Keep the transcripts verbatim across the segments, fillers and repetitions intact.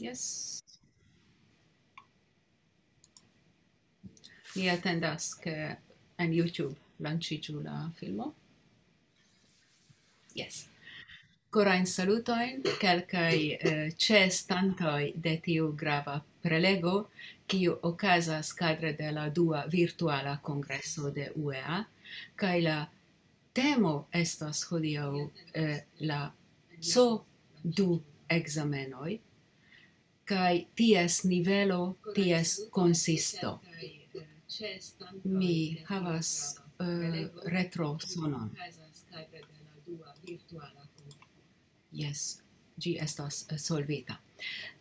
Yes. Mi atendas, ke en YouTube lanĉiĝu la filmo. Yes. Korajn salutojn, kelkaj, eh, ĉeestantoj de tiu grava prelego, kiu okazas kadre de la dua virtuala kongreso de U E A, kaj la temo estas hodiaŭ, eh, la C O du ekzamenoj, kaj ties nivelo, ties konsisto. Mi havas, eh, retrosonon. Yes, ĝi estas, eh, solvita.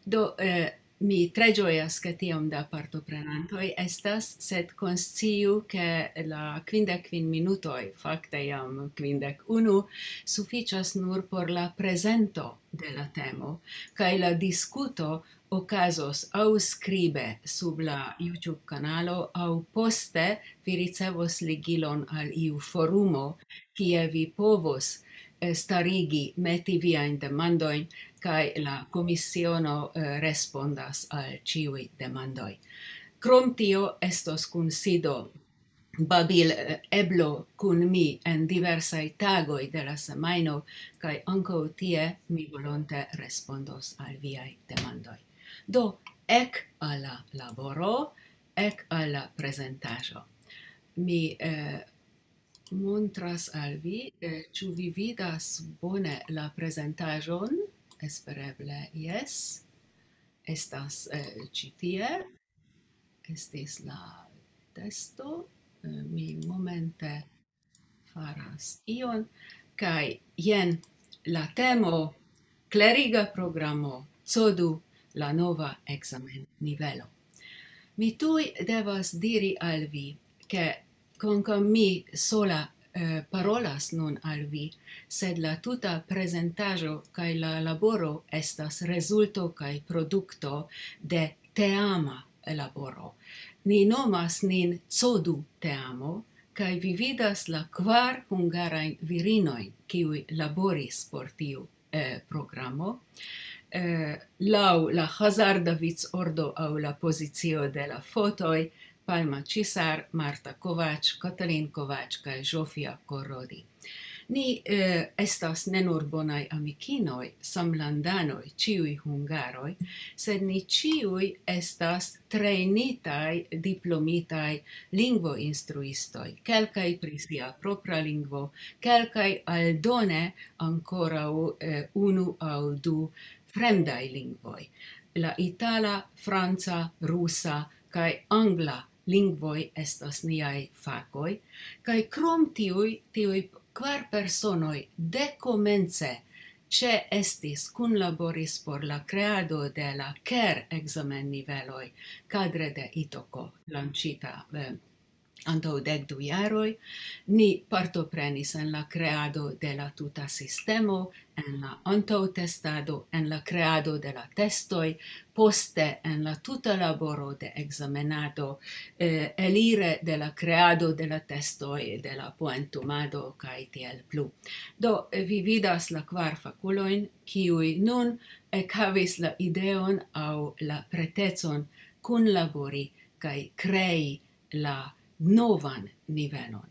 Do, eh, mi tre ĝojas, ke tiom da partoprenantoj estas, sed konsciu, ke la kvindek kvin minutoj, fakte jam kvindek unu, sufiĉas nur por la prezento de la temo, kaj la diskuto okazos aŭ skribe sub la YouTube kanalo, aŭ poste vi ricevos ligilon al iu forumo, kie vi povos, eh, starigi, meti viajn demandojn, kaj la komisiono, eh, respondas al ĉiuj demandoj. Krom tio, estos kunsido babil, eh, eblo kun mi en diversaj tagoj de la semajno, kaj ankaŭ tie mi volonte respondos al viaj demandoj. Do, ek al la laboro, ek al la prezentaĵo. Mi, eh, montras al vi, eh, ĉu vi vidas bone la prezentaĵon? Espereble jes. Estas, eh, ĉi tie. Estis la testo. Eh, mi momente faras ion. Kaj jen la temo: kleriga programo, C O du, la nova ekzamen nivelo. Mi tuj devas diri al vi, ke kvankam mi sola, eh, parolas nun al vi, sed la tuta prezentaĵo kaj la laboro estas rezulto kaj produkto de teama laboro. Ni nomas nin C O du teamo, kaj vi vidas la kvar hungarajn virinojn, kiuj laboris por tiu, eh, programo. Eh, laŭ la hazarda vicordo aŭ la pozicio de la fotoj, Palma Cisar, Marta Kovacs, Katalin Kovacs kaj Zsofia Korrodi. Ni, eh, estas ne nur bonaj amikinoj, samlandanoj, ĉiuj hungaroj, sed ni ĉiuj estas trejnitaj, diplomitaj lingvoinstruistoj, kelkaj pri sia propra lingvo, kelkaj aldone ankoraŭ, eh, unu aŭ du fremdaj lingvoj. La itala, franca, rusa kaj angla lingvoj estas niaj fakoj, kaj krom tiuj, tiuj kvar personoj dekomence ĉeestis, kunlaboris por la kreado de la ker ekzamenniveloj kadre de Itoko, lanĉita, eh, antaŭ dek du jaroj. Ni partoprenis en la kreado de la tuta sistemo, en la antaŭtestado, en la kreado de la testoj, poste en la tuta laboro de ekzamenado, eh, elire de la kreado de la testoj, de la poentumado kaj tiel plu. Do, eh, vi vidas la kvar fakulojn, kiuj nun ekhavis la ideon aŭ la pretecon kunlabori kaj krei la novan nivelon.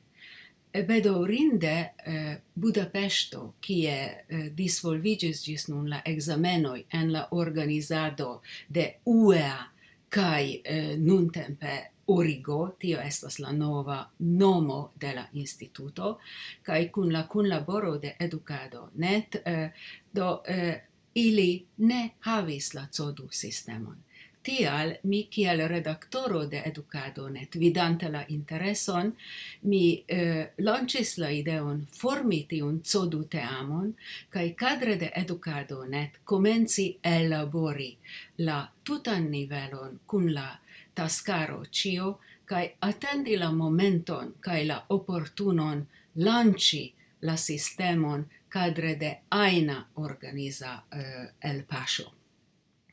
Eh, bedaŭrinde, eh, Budapeŝto, kie, eh, disvolviĝis ĝis nun la ekzamenoj en la organizado de U E A kaj, eh, nuntempe Origo, tio estas la nova nomo de la instituto, kaj kun la kunlaboro de Edukado net, eh, do, eh, ili ne havis la C O du sistemon. Tial mi kiel redaktoro de Edukado net, vidante la intereson, mi, eh, lanĉis la ideon formi tiun C O du teamon, kaj kadre de Edukado net komenci ellabori la tutan nivelon kun la taskaro ĉio, kaj atendi la momenton kaj la oportunon lanĉi la sistemon kadre de ajna organiza, eh, elpaŝo.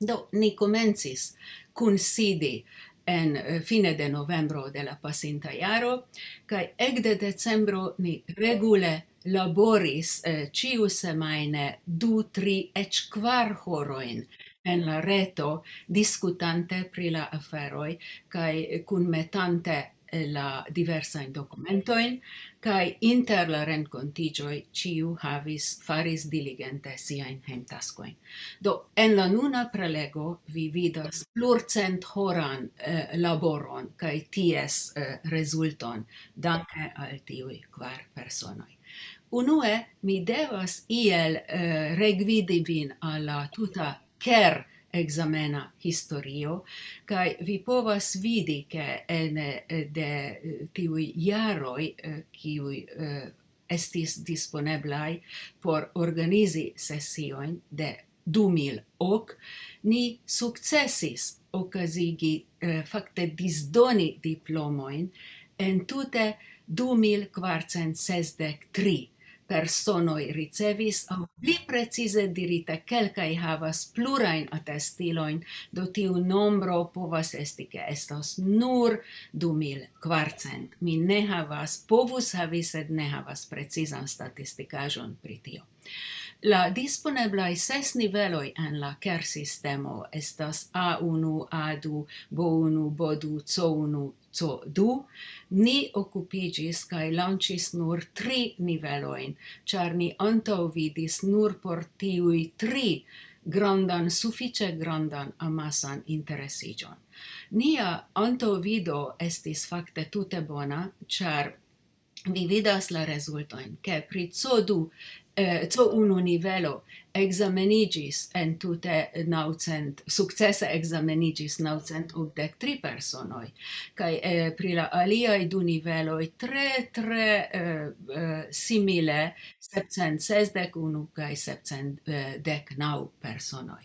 Do, ni komencis kunsidi en, eh, fine de novembro de la pasinta jaro, kaj ekde decembro ni regule laboris, eh, ĉiusemajne du, tri, eĉ kvar horojn en la reto, diskutante pri la aferoj kaj kunmetante, eh, la diversajn dokumentojn, kaj inter la renkontiĝoj ĉiu havis, faris diligente siajn hejmtaskojn. Do, en la nuna prelego vi vidas plurcenthoran, eh, laboron kaj ties, eh, rezulton, danke al tiuj kvar personoj. Unue, mi devas iel, eh, regvidi vin al la tuta Ker ekzamena historio, kaj vi povas vidi, ke ene, eh, de, eh, tiuj jaroj, eh, kiuj, eh, estis disponeblaj por organizi sesiojn de du mil ok, ni sukcesis okazigi, eh, fakte disdoni diplomojn en tute du mil kvarcent sesdek tri personoj ricevis, aŭ pli precize dirite, kelkaj havas plurajn atestilojn, do tiu nombro povas esti, ke estas nur du mil kvarcent. Mi ne havas, povus havi, sed ne havas precizan statistikaĵon pri tio. La disponeblaj ses niveloj en la Ker-sistemo estas A unu, A du, B unu, B du, C unu, C du. Ni okupiĝis kaj lanĉis nur tri nivelojn, ĉar ni antaŭvidis nur por tiuj tri grandan, sufiĉe grandan amasan interesiĝon. Nia antaŭvido estis fakte tute bona, ĉar vi vidas la rezultojn, ke pri C du, eh, C unu nivelo ekzameniĝis en tute naŭcent, sukcese ekzameniĝis naŭcent okdek tri personoj, kaj, eh, pri la aliaj du niveloj tre, tre, eh, eh, simile, sepcent sesdek unu kaj sepcent dek naŭ personoj.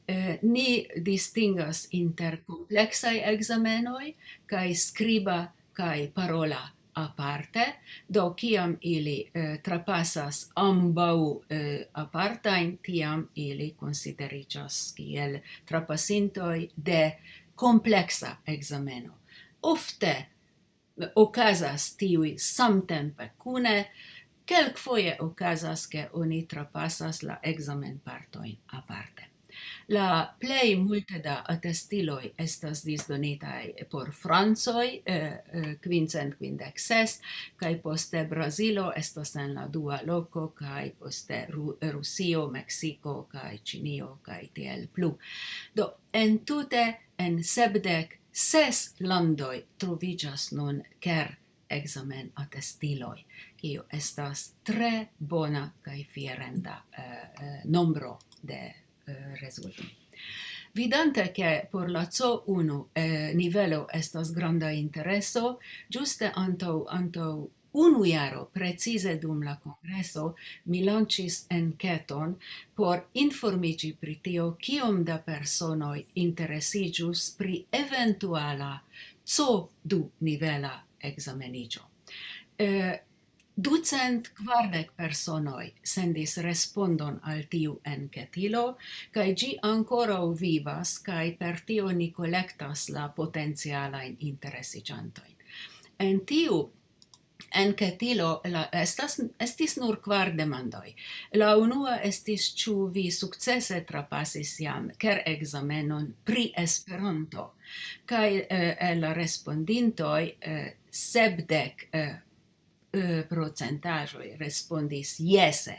Eh, ni distingas inter kompleksaj ekzamenoj kaj skriba kaj parola aparte, do kiam ili, eh, trapasas ambaŭ, eh, apartajn, tiam ili konsideriĝas kiel trapasintoj de kompleksa ekzameno. Ofte okazas tiuj samtempe kune, kelkfoje okazas, ke oni trapasas la ekzamenpartojn aparte. La plej multe da atestiloj estas disdonitaj por francoj, eh, eh, kvincent kvindek ses, kaj poste Brazilo estas en la dua loko, kaj poste Ru-, Rusio, Meksiko, kaj Ĉinio, kaj tiel plu. Do, entute en sepdek ses landoj troviĝas nun Ker ekzamenatestiloj, kio estas tre bona kaj fierenda, eh, eh, nombro de, eh, rezultoj. Vidante, ke por la C unu, eh, nivelo estas granda intereso, ĝuste antaŭ, antaŭ unu jaro, precize dum la kongreso, mi lanĉis enketon por informiĝi pri tio, kiom da personoj interesiĝus pri eventuala C du nivela ekzameniĝo. Eh, ducent kvardek personoj sendis respondon al tiu enketilo, kaj ĝi ankoraŭ vivas, kaj per tio ni kolektas la potencialajn interesiĝantojn. En tiu enketilo la, estas, estis nur kvar demandoj. La unua estis, ĉu vi sukcese trapasis jam Ker ekzamenon pri Esperanto? Kaj, eh, el la respondintoj, eh, sepdek, eh, eh, procentaĵoj respondis jese.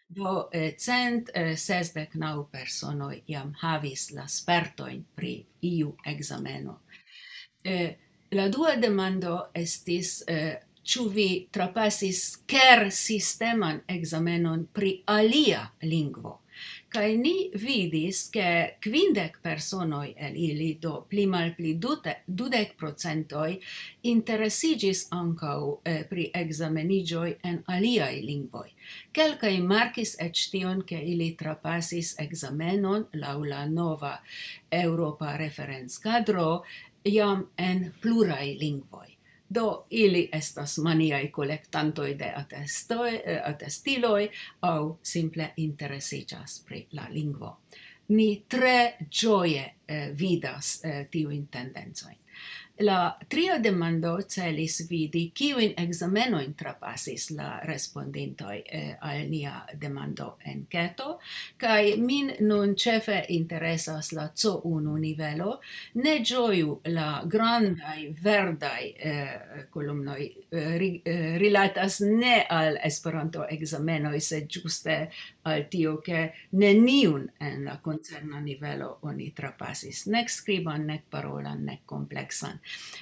Do, eh, cent sesdek naŭ personoj jam havis la spertojn pri iu ekzameno. Eh, la dua demando estis, eh, ĉu vi trapasis Ker sisteman ekzamenon pri alia lingvo? Kaj ni vidis, ke kvindek personoj el ili, do pli malpli dute-, dudek procentoj, interesiĝis ankaŭ, eh, pri ekzameniĝoj en aliaj lingvoj. Kelkaj markis eĉ tion, ke ili trapasis ekzamenon laŭ la nova eŭropa referencadro jam en pluraj lingvoj. Do, ili estas maniaj kolektantoj de atestoj, eh, atestiloj aŭ simple interesiĝas pri la lingvo. Ni tre ĝoje, eh, vidas, eh, tiujn tendencojn. La tria demando celis vidi, kiujn ekzamenojn trapasis la respondintoj, eh, al nia demando enketo, kaj min nun ĉefe interesas la C unu nivelo. Ne ĝoju, la grandaj verdaj, eh, kolumnoj, eh, ri-, eh, rilatas ne al Esperanto-ekzamenoj, sed ĝuste al tio, ke neniun en la koncerna nivelo oni trapasis, nek skriban, nek parolan, nek kompleksan.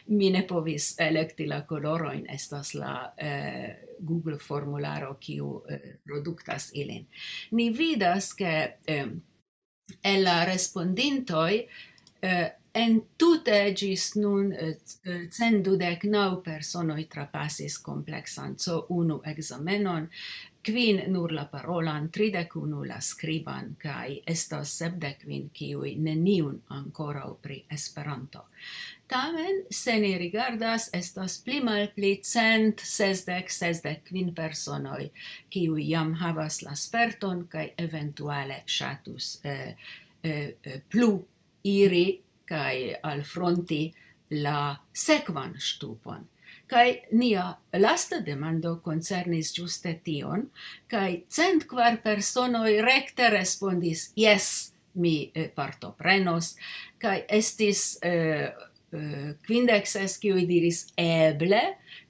Mi ne povis elekti la kolorojn, estas la, eh, Google formularo, kiu, eh, produktas ilin. Ni vidas, ke, em, el la respondintoj, eh, entute ĝis nun, eh, c-, eh, cent dudek naŭ personoj trapasis kompleksan C unu ekzamenon, kvin nur la parolan, tridek unu la skriban, kaj estas sepdek kvin, kiuj neniun ankoraŭ pri Esperanto. Tamen, se ni rigardas, estas pli malpli cent sesdek, sesdek kvin personoj, kiuj jam havas la sperton kaj eventuale ŝatus, eh, eh, eh, plu iri kaj alfronti la sekvan ŝtupon. Kaj nia lasta demando koncernis ĝuste tion, kaj cent kvar personoj rekte respondis: "Jes, mi, eh, partoprenos", kaj estis, eh, eh, kvindek ses, kiuj diris: "Eble",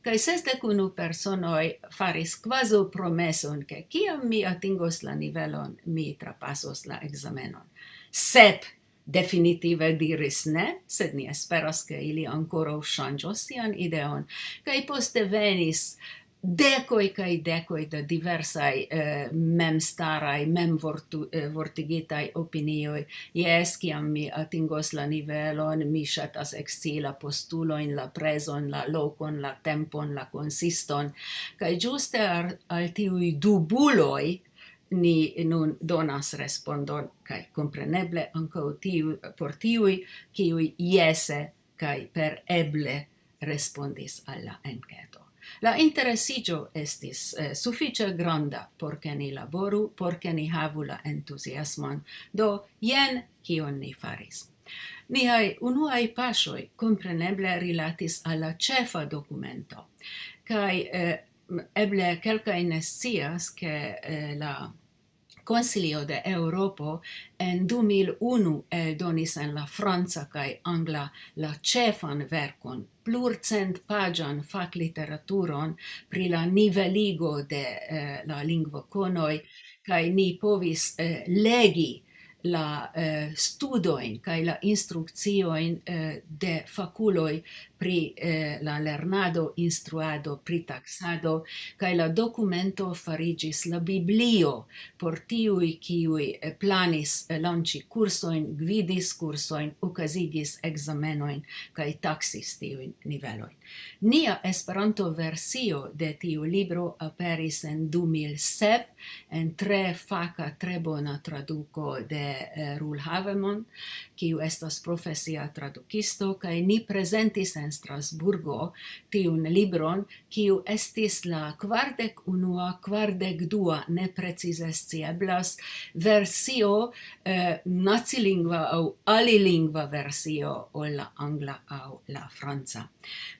kaj sesdek unu personoj faris kvazaŭ promeson, ke kiam mi atingos la nivelon, mi trapasos la ekzamenon. Sep definitive diris ne, sed ni esperas, ke ili ankoraŭ ŝanĝos sian ideon. Kaj poste venis dekoj kaj dekoj da diversaj, eh, memstaraj, memvortu-, eh, vortigitaj opinioj. "Jes, kiam mi atingos la nivelon, mi ŝatas ekscii la postulojn, la prezon, la lokon, la tempon, la konsiston." Kaj ĝuste al, al tiuj dubuloj ni nun donas respondon, kaj kompreneble ankaŭ tiu-, por tiuj, kiuj jese kaj per eble respondis al la enketo. La interesiĝo estis, eh, sufiĉe granda, por ke ni laboru, por ke ni havu la entuziasmon. Do, jen kion ni faris. Niaj unuaj paŝoj kompreneble rilatis al la ĉefa dokumento. Kaj, eh, m-, eble kelkaj ne scias, ke, eh, la Konsilio de Eŭropo en du mil unu eldonis en la franca kaj angla la ĉefan verkon, plurcentpaĝan fakliteraturon pri la niveligo de, eh, la lingvokonoj, kaj ni povis, eh, legi la, eh, studojn kaj la instrukciojn, eh, de fakuloj pri, eh, la lernado, instruado, pri taksado, kaj la dokumento fariĝis la biblio por tiuj, kiuj, eh, planis, eh, lanĉi kursojn, gvidis kursojn, okazigis ekzamenojn kaj taksis tiujn nivelojn. Nia Esperanto-versio de tiu libro aperis en du mil sep en tre faka, tre bona traduko de, eh, Roel Havemon, kiu estas profesia tradukisto, kaj ni prezentis en Strasburgo tiun libron, kiu estis la kvardek unua, kvardek dua, ne precize scieblas, versio, eh, nacilingva aŭ alilingva versio ol la angla aŭ la franca.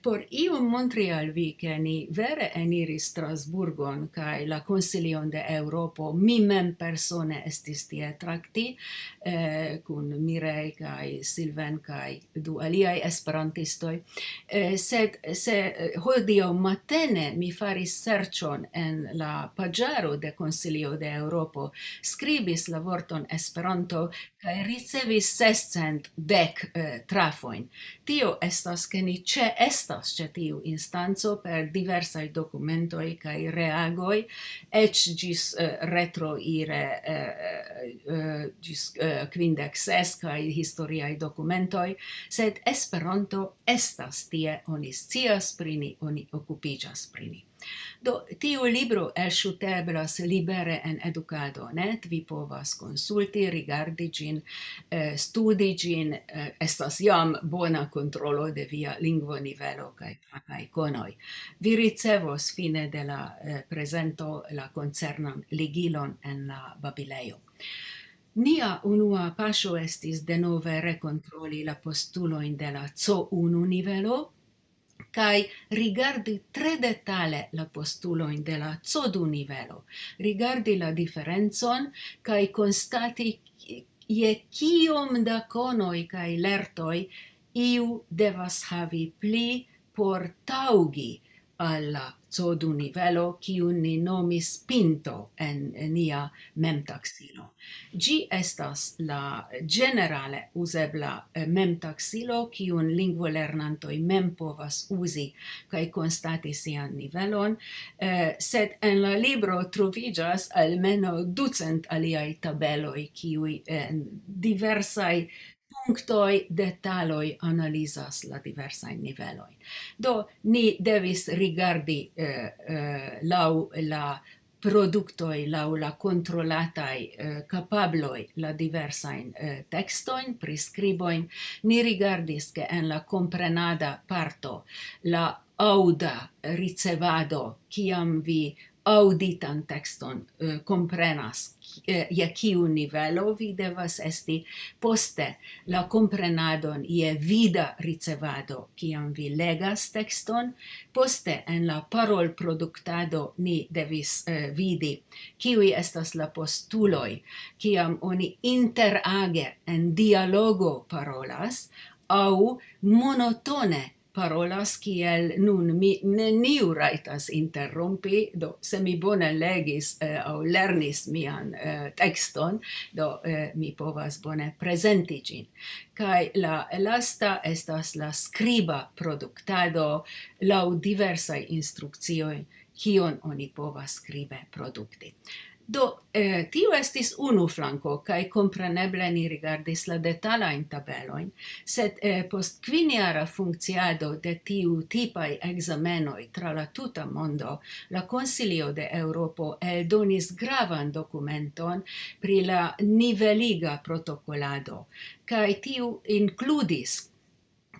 Por iom montri al vi, ke ni vere eniris Strasburgon kaj la Konsilion de Eŭropo, mi mem persone estis tie trakti, eh, kun Mireille kaj Sylvain kaj du aliaj esperantistoj. Eh, sed se, eh, hodiaŭ matene mi faris serĉon en la paĝaro de Konsilio de Eŭropo, skribis la vorton Esperanto kaj ricevis sescent dek, eh, trafojn. Tio estas, ke ni ĉeestas ĉe tiu instanco per diversaj dokumentoj kaj reagoj, eĉ ĝis, eh, retroire, eh, eh, ĝis, eh, kvindek ses kaj historiaj dokumentoj, sed Esperanto estas tie, oni scias pri ni, oni okupiĝas pri ni. Do, tiu libro elŝuteblas libere en Edukado net, vi povas konsulti, rigardi ĝin, eh, studi ĝin, eh, estas jam bona kontrolo de via lingvonivelo kaj fakaj konoj. Vi ricevos fine de la, eh, prezento la koncernan ligilon en la babilejo. Nia unua paŝo estis denove rekontroli la postulojn de la C unu nivelo, kaj rigardi tre detale la postulojn de la C du nivelo, rigardi la diferencon kaj konstati, je kiom da konoj kaj lertoj iu devas havi pli por taŭgi al la C du nivelo, kiun ni nomis pinto en nia memtaksilo. Ĝi estas la ĝenerale uzebla, eh, memtaksilo, kiun lingvolernantoj mem povas uzi kaj konstati sian nivelon, eh, sed en la libro troviĝas almenaŭ ducent aliaj tabeloj, kiuj, eh, en diversaj punktoj, detaloj analizas la diversajn nivelojn. Do, ni devis rigardi, eh, eh, laŭ la produktoj, laŭ la kontrolataj, eh, kapabloj la diversajn, eh, tekstojn, priskribojn. Ni rigardis, ke en la komprenada parto la aŭda ricevado, kiam vi aŭditan tekston, eh, komprenas, ki-, eh, je kiu nivelo vi devas esti, poste la komprenadon je vida ricevado, kiam vi legas tekston, poste en la parolproduktado ni devis, eh, vidi, kiuj estas la postuloj, kiam oni interage en dialogo parolas, aŭ monotone parolas, kiel nun mi neniu rajtas interrompi, do se mi bone legis, eh, aŭ lernis mian, eh, tekston, do, eh, mi povas bone prezenti ĝin. Kaj la lasta estas la skriba produktado laŭ diversaj instrukcioj, kion oni povas skribe produkti. Do, eh, tio estis unu flanko, kaj kompreneble ni rigardis la detalajn tabelojn, sed, eh, post kvinjara funkciado de tiu tipaj ekzamenoj tra la tuta mondo, la Konsilio de Eŭropo eldonis gravan dokumenton pri la niveliga protokolado, kaj tiu inkludis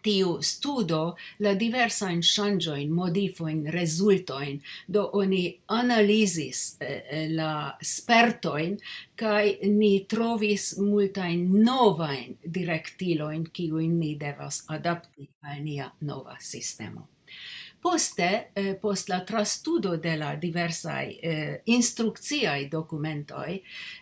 tiu studo la diversajn ŝanĝojn, modifojn, rezultojn. Do oni analizis, eh, eh, la spertojn, kaj ni trovis multajn novajn direktilojn, kiujn ni devas adapti al nia nova sistemo. Poste, eh, post la trastudo de la diversaj, eh, instrukciaj dokumentoj,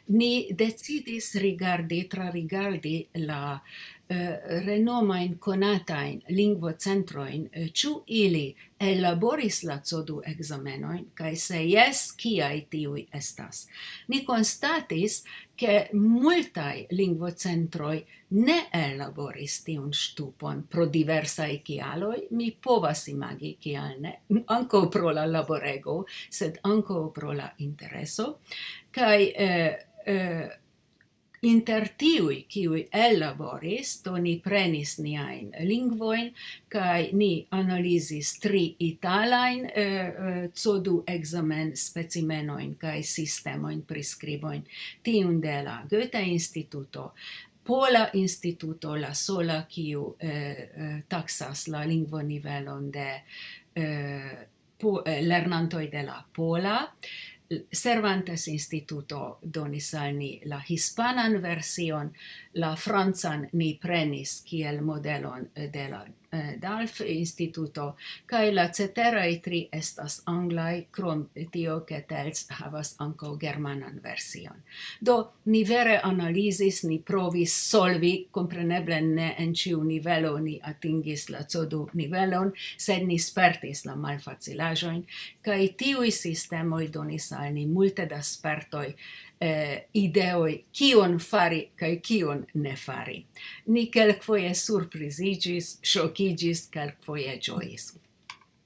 ni decidis rigardi, trarigardi la, eh, renomajn konatajn lingvocentrojn, eh, ĉu ili ellaboris la C du ekzamenojn, kaj se jes, kiaj tiuj estas. Ni konstatis, ke multaj lingvocentroj ne ellaboris tiun ŝtupon pro diversaj kialoj. Mi povas imagi, kial ne, ankaŭ pro la laborego, sed ankaŭ pro la intereso. Kaj, eh, eh, inter tiuj, kiuj ellaboris, do ni prenis niajn lingvojn, kaj ni analizis tri italajn, eh, eh, C du ekzamen specimenojn kaj sistemojn, priskribojn, tiun de la Goethe-Instituto, Pola Instituto, la sola, kiu, eh, eh, taksas la lingvonivelon de, eh, po-, eh, lernantoj de la pola. Cervantes Instituto donis al ni la hispanan version, la francan ni prenis kiel modelon, eh, de la, eh, Dalf Instituto, kaj la ceteraj tri estas anglaj, krom tio, ke Tels havas ankaŭ germanan version. Do, ni vere analizis, ni provis solvi, kompreneble ne en ĉiu nivelo ni atingis la C du nivelon, sed ni spertis la malfacilaĵojn, kaj tiuj sistemoj donis al ni multe da spertoj, eh, ideoj, kion fari kaj kion ne fari. Ni kelkfoje surpriziĝis, ŝokiĝis, kelkfoje ĝojis.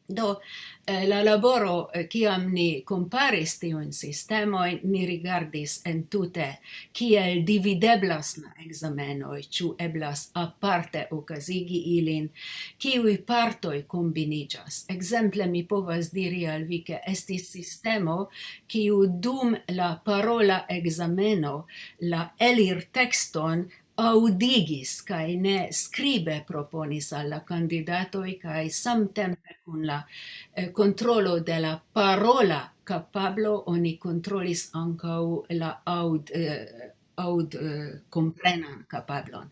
Do, eh, la laboro, eh, kiam ni komparis tiujn sistemojn, ni rigardis entute, kiel divideblas la ekzamenoj, ĉu eblas aparte okazigi ilin, kiuj partoj kombiniĝas. Ekzemple, mi povas diri al vi, ke estis sistemo, kiu dum la parola ekzameno la elirtekston aŭdigis kaj ne skribe proponis al la kandidatoj, kaj samtempe kun la, eh, kontrolo de la parola kapablo oni kontrolis ankaŭ la aŭd-, eh, aŭd, eh, komprenan kapablon.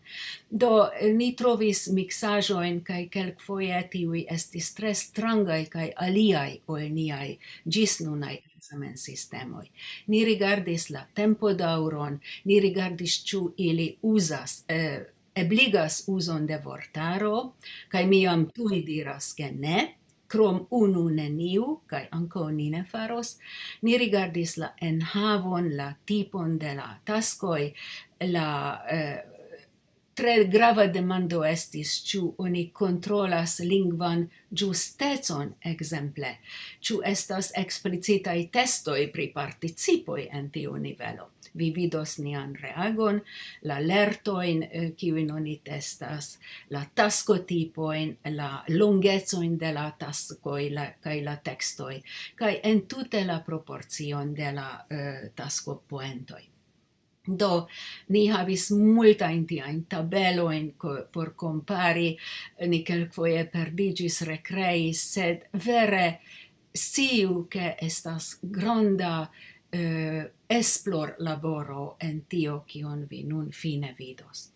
Do, eh, ni trovis miksaĵojn, kaj kelkfoje tiuj estis tre strangaj kaj aliaj ol niaj ĝis nunaj ekzamensistemoj. Ni rigardis la tempodaŭron, ni rigardis, ĉu ili uzas, eh, ebligas uzon de vortaro, kaj mi jam tuj diras, ke ne, krom unu neniu, kaj ankaŭ ni ne faros. Ni rigardis la enhavon, la tipon de la taskoj, la, eh, tre grava demando estis, ĉu oni kontrolas lingvan ĝustecon, ekzemple, ĉu estas eksplicitaj testoj pri participoj en tiu nivelo. Vi vidos nian reagon, la lertojn, eh, kiujn oni testas, la taskotipojn, la longecojn de la taskoj, la, kaj la tekstoj, kaj entute la proporcion de la, eh, taskopoentoj. Do, ni havis multajn tiajn tabelojn ko-, por kompari, ni kelkfoje perdiĝis, rekreis, sed vere sciu, ke estas granda, eh, esplorlaboro en tio, kion vi nun fine vidos.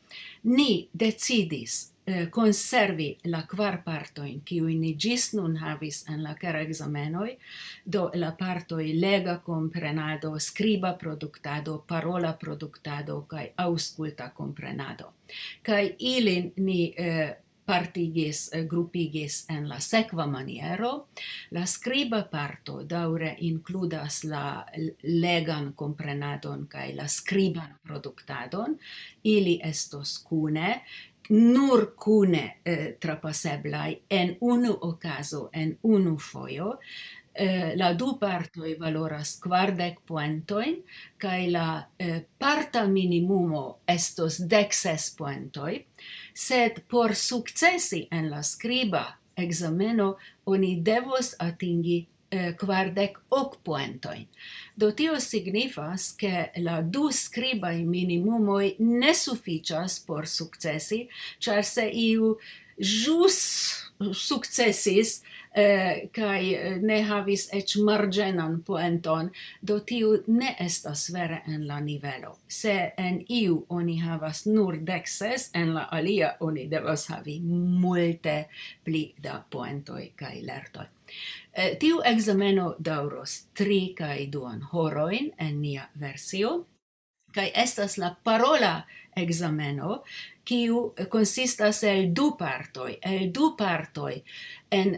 Ni decidis, eh, konservi la kvar partojn, kiujn ni ĝis nun havis en la kera ekzamenoj, do la partoj lega komprenado, skriba produktado, parola produktado kaj aŭskulta komprenado. Kaj ilin ni, eh, partigis, eh, grupigis en la sekva maniero. La skriba parto daŭre inkludas la l-, legan komprenadon kaj la skriban produktadon. Ili estos kune, nur kune, eh, trapaseblaj en unu okazo, en unu fojo. Eh, la du partoj valoras kvardek poentojn, kaj la, eh, parta minimumo estos dek ses poentoj, sed por sukcesi en la skriba ekzameno oni devos atingi, eh, kvardek ok poentojn. Do tio signifas, ke la du skribaj minimumoj ne sufiĉas por sukcesi, ĉar se iu ĵus sukcesis, eh, kaj, eh, ne havis eĉ marĝenan poenton, do tiu ne estas vere en la nivelo. Se en iu oni havas nur dek ses, en la alia oni devas havi multe pli da poentoj kaj lertoj. Eh, tiu ekzameno daŭros tri kaj duon horojn en nia versio, kaj estas la parola ekzameno, kiu konsistas el du partoj, el du partoj en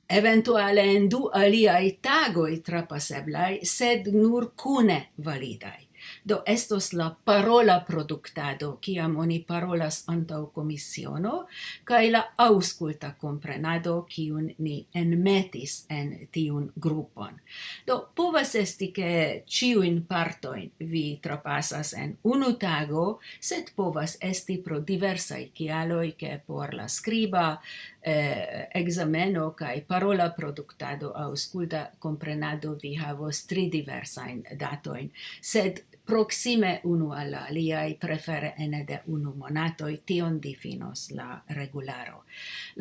eventuale en du aliaj tagoj trapaseblaj, sed nur kune validaj. Do estos la parola produktado, kiam oni parolas antaŭ komisiono, kaj la aŭskulta komprenado, kiun ni enmetis en tiun grupon. Do povas esti, ke ĉiujn partojn vi trapasas en unu tago, sed povas esti pro diversaj kialoj, ke por la skriba, eh, ekzameno kaj parola produktado, aŭskulta komprenado, vi havos tri diversajn datojn, sed proksime unu al la aliaj, prefere ene de unu monatoj, tion difinos la regularo.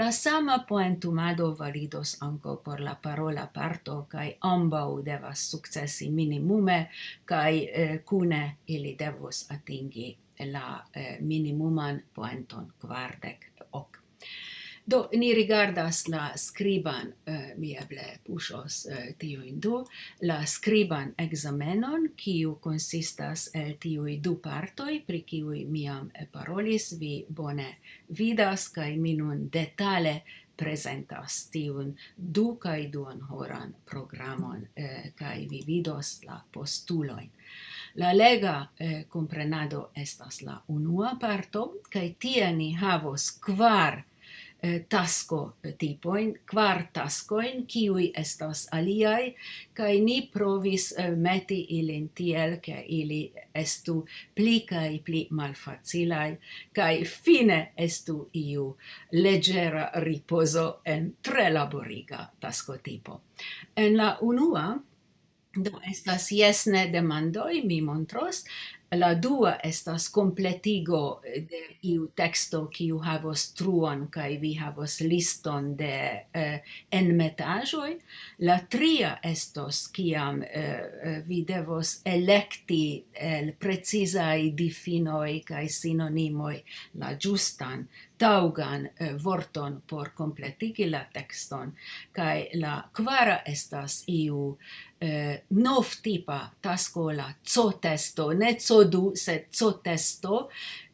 La sama poentumado validos ankaŭ por la parola parto, kaj ambaŭ devas sukcesi minimume, kaj, eh, kune ili devos atingi la, eh, minimuman poenton, kvardek ok. Do, ni rigardas la skriban, eh, mi eble puŝos, eh, tiujn du, la skriban ekzamenon, kiu konsistas el tiuj du partoj, pri kiuj mi jam, eh, parolis, vi bone vidas, kaj mi nun detale prezentas tiun du kaj duon horan programon, eh, kaj vi vidos la postulojn. La lega, eh, komprenado estas la unua parto, kaj tie ni havos kvar, eh, tasko, eh, tipojn, kvar taskojn, kiuj estas aliaj, kaj ni provis, eh, meti ilin tiel, ke ili estu pli kaj pli malfacilaj, kaj fine estu iu leĝera ripozo en tre laboriga taskotipo. En la unua, do estas jes ne demandoj, mi montros. La dua estas kompletigo de iu teksto, kiu havos truon, kaj vi havos liston de, eh, enmetaĵoj. La tria estos, kiam, eh, eh, vi devos elekti el precizaj difinoj kaj sinonimoj la ĝustan, taŭgan, eh, vorton por kompletigi la tekston. Kaj la kvara estas iu, eh, novtipa tasko, la C O testo, ne C O du, sed C O testo.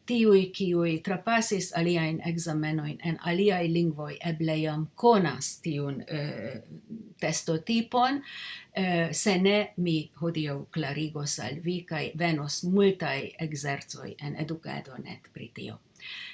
Tiuj, kiuj trapasis aliajn ekzamenojn en aliaj lingvoj, eble jam konas tiun, eh, testotipon. Eh, se ne, mi hodiaŭ klarigos al vi, kaj venos multaj ekzercoj en Edukedo net pri tio.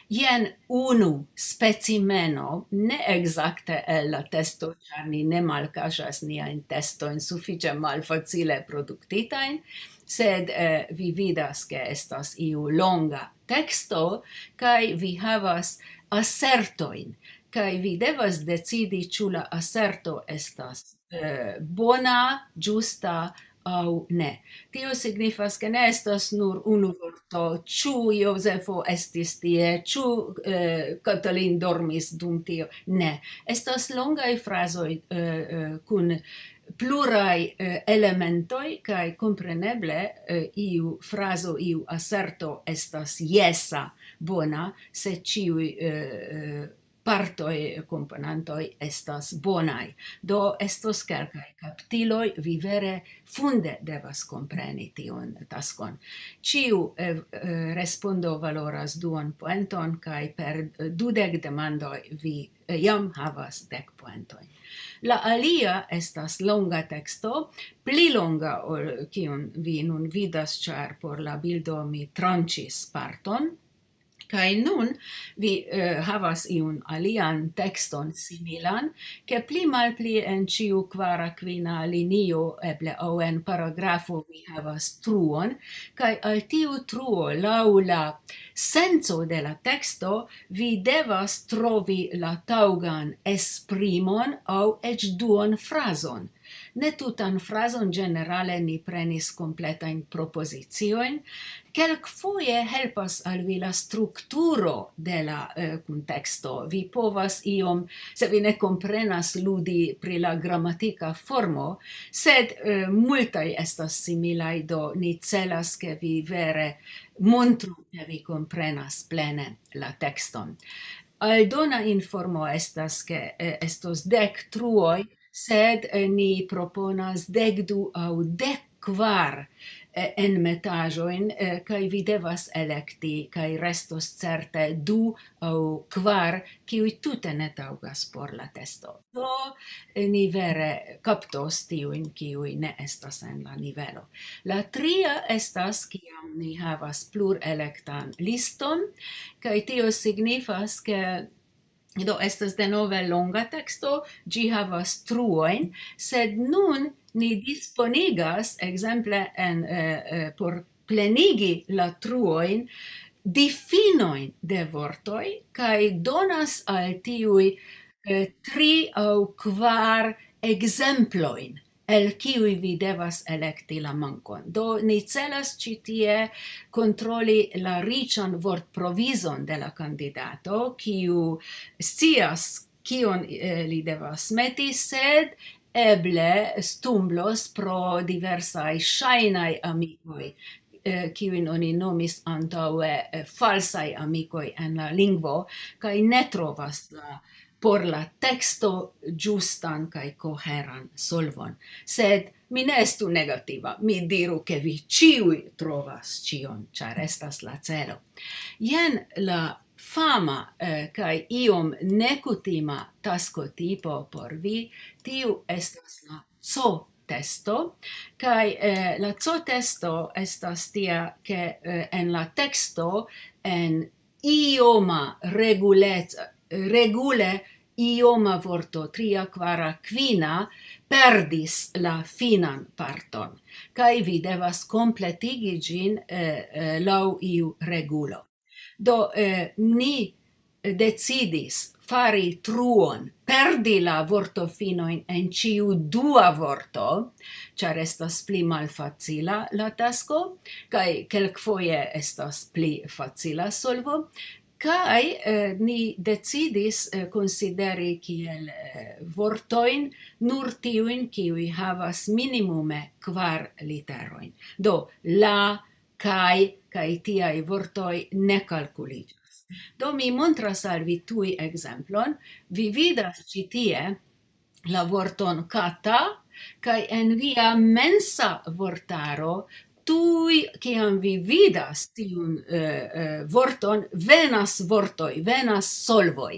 Jen unu specimeno, ne ekzakte el la testo, ĉar ni ne malkaŝas niajn testojn sufiĉe malfacile produktitajn, sed, eh, vi vidas, ke estas iu longa teksto, kaj vi havas asertojn, kaj vi devas decidi, ĉu la aserto estas, eh, bona, ĝusta aŭ ne. Tio signifas, ke ne estas nur unu vorto, ĉu Jozefo estis tie, ĉu, eh, Katalin dormis dum tio. Ne. Estas longaj frazoj, eh, eh, kun pluraj, eh, elementoj, kaj kompreneble, eh, iu frazo, iu aserto estas jesa, bona, se ĉiuj, eh, eh, partoj, komponantoj estas bonaj. Do estos kelkaj kaptiloj, vi vere funde devas kompreni tiun taskon. Ĉiu, eh, eh, respondo valoras duon poenton, kaj per, eh, dudek demandoj vi, eh, jam havas dek poentojn. La alia estas longa teksto, pli longa ol kiun vi nun vidas, ĉar por la bildo mi tranĉis parton. Kaj nun vi, eh, havas iun alian tekston similan, ke pli malpli en ĉiu kvara, kvina linio, eble aŭ en paragrafo vi havas truon, kaj al tiu truo, laŭ la senco de la teksto, vi devas trovi la taŭgan esprimon aŭ eĉ duon frazon. Ne tutan frazon, ĝenerale ni prenis kompletajn propoziciojn. Kelkfoje helpas al vi la strukturo de la, eh, kunteksto. Vi povas iom, se vi ne komprenas, ludi pri la gramatika formo, sed, eh, multaj estas similaj, do ni celas, ke vi vere montru, ke vi komprenas plene la tekston. Aldona informo estas, ke, eh, estos dek truoj, sed, eh, ni proponas dek du aŭ dek kvar, eh, enmetaĵojn, eh, kaj vi devas elekti, kaj restos certe du aŭ kvar, kiuj tute ne taŭgas por la testo. Do, eh, ni vere kaptos tiujn, kiuj ne estas en la nivelo. La tria estas, kiam ni havas plurelektan liston, kaj tio signifas, ke, do, estas denove longa teksto, ĝi havas truojn, sed nun ni disponigas, ekzemple, en, eh, eh, por plenigi la truojn, difinojn de vortoj, kaj donas al tiuj, eh, tri aŭ kvar ekzemplojn, el kiuj vi devas elekti la mankon. Do, ni celas ĉi tie kontroli la riĉan vortprovizon de la kandidato, kiu scias, kion, eh, li devas meti, sed eble stumblos pro diversaj ŝajnaj amikoj, eh, kiujn oni nomis antaŭe, eh, falsaj amikoj en la lingvo, kaj ne trovas la, por la teksto ĝustan kaj koheran solvon. Sed mi ne estu negativa, mi diru, ke vi ĉiuj trovas ĉion, ĉar estas la celo. Jen la fama, eh, kaj iom nekutima taskotipo por vi, tiu estas la C O testo, kaj, eh, la C O testo estas tia, ke, eh, en la teksto, en ioma regulec-, regule ioma vorto, tria, kvara, kvina, perdis la finan parton, kaj vi devas kompletigi ĝin, eh, eh, laŭ iu regulo. Do, eh, ni decidis fari truon, perdi la vortofinojn en ĉiu dua vorto, ĉar estas pli malfacila la tasko, kaj kelkfoje estas pli facila solvo. Kaj, eh, ni decidis, eh, konsideri kiel, eh, vortojn nur tiujn, kiuj havas minimume kvar literojn. Do, la, kaj, kaj tiaj vortoj ne kalkuliĝas. Do, mi montras al vi tuj ekzemplon. Vi vidas ĉi tie la vorton kata, kaj en via mensa vortaro, tuj kiam vi vidas tiun, eh, eh, vorton, venas vortoj, venas solvoj.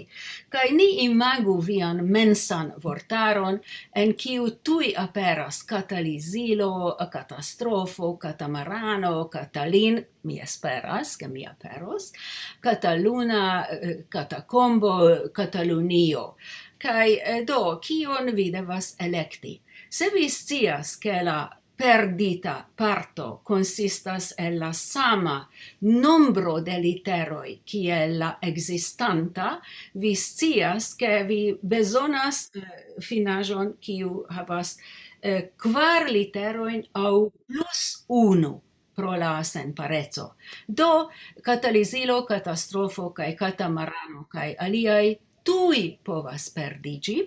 Kaj ni imagu vian mensan vortaron, en kiu tuj aperas katalizilo, katastrofo, katamarano, katalin, mi esperas, ke mi aperos, kataluna, eh, katakombo, Katalunio. Kaj, eh, do, kion vi devas elekti? Se vi scias, ke la perdita parto konsistas el la sama nombro de literoj kiel la ekzistanta, vi scias, ke vi bezonas, eh, finaĵon, kiu havas, eh, kvar literojn aŭ plus unu pro la senpareco. Do, katalizilo, katastrofo kaj katamarano kaj aliaj tuj povas perdiĝi,